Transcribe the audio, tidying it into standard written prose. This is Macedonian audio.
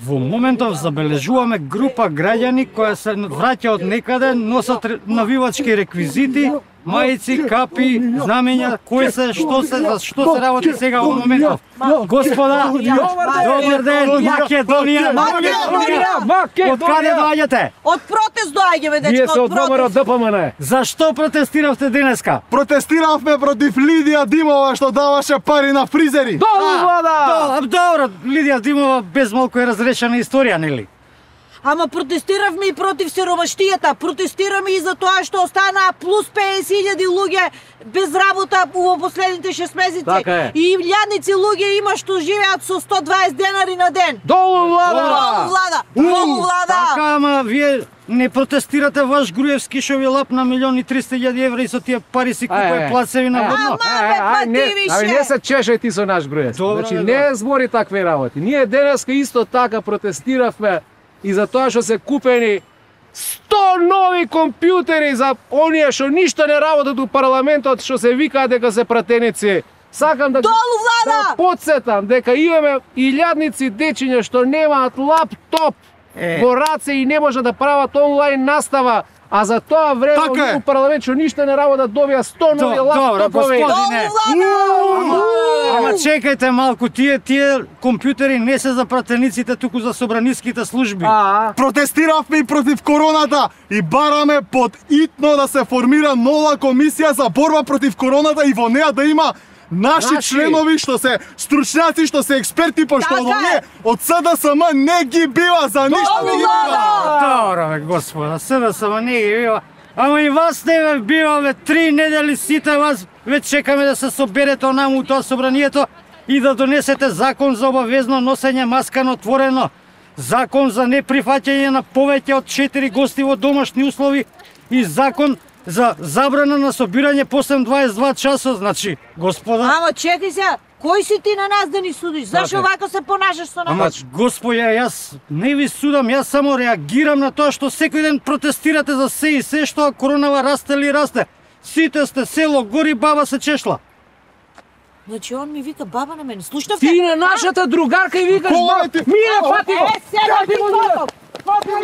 Во моментов забележуваме група граѓани која се враќа од некаде, носат навивачки реквизити, мајци, капи, знамења, кои се, што се работи сега во моментов. Господа, добар ден, Македонија! Од каде доаѓате? Од протест доаѓаме, дечко, Ние се од ВМРО ДПМН. Зашто протестиравте денеска? Протестиравме против Лидија Димова што даваше пари на фризери. Долу влада! Добро, Лидија Димова без малку е разрешена историја, нели? Ама протестиравме и против сиромаштијата, протестираме и за тоа што останаа плюс 50.000 луѓе без работа во последните 6 месеци. Така е. И илјадници луѓе има што живеат со 120 денари на ден. Долу влада! Долу влада! Долу влада! Така, ама вие не протестирате ваш Груевски што ви лапна 1.300.000 евра и со тие пари си купува плацеви на водно. Не се чешај ти со наш Груевски. Значи не збори такви работи. Ние денеска исто така протестиравме и за тоа што се купени 100 нови компјутери за оние што ништо не работат у парламентот, што се викаат дека се пратеници. Сакам да потсетам дека имаме илјадници дечиња што немаат лаптоп во раце и не може да прават онлайн настава, а за тоа време у парламент што ништо не работат добија 100 нови лаптопови. Ама чекајте малку, тие компјутери не се за пратениците, туку за собраниските служби. Протестиравме и против короната и бараме под итно да се формира нова комисија за борба против короната и во неа да има наши членови што се стручњаци, што се експерти, пошто оние од СДСМ не ги бива за ништо не ги бива. Добро бе, господа, СДСМ не ги бива. Ама и вас не бе бива, бе, 3 недели сите вас ве чекаме да се соберете онаму у тоа собранието и да донесете закон за обавезно носење маска на отворено, закон за неприфаќање на повеќе од 4 гости во домашни услови и закон за забрана на собирање после 22 часот, значи, господа... Ама чекај се, кој си ти на нас да ни судиш? Зашо вака се понашаш со нас? Ама, господја, јас не ви судам, јас само реагирам на тоа што секој ден протестирате за се и се, што коронава расте ли расте. Сите сте село, гори баба се чешла. Значи он ми вика баба на мене, слушнавте? Ти на нашата другарка и викаш баба. Мие, фати го! Сега ти го! Фати го!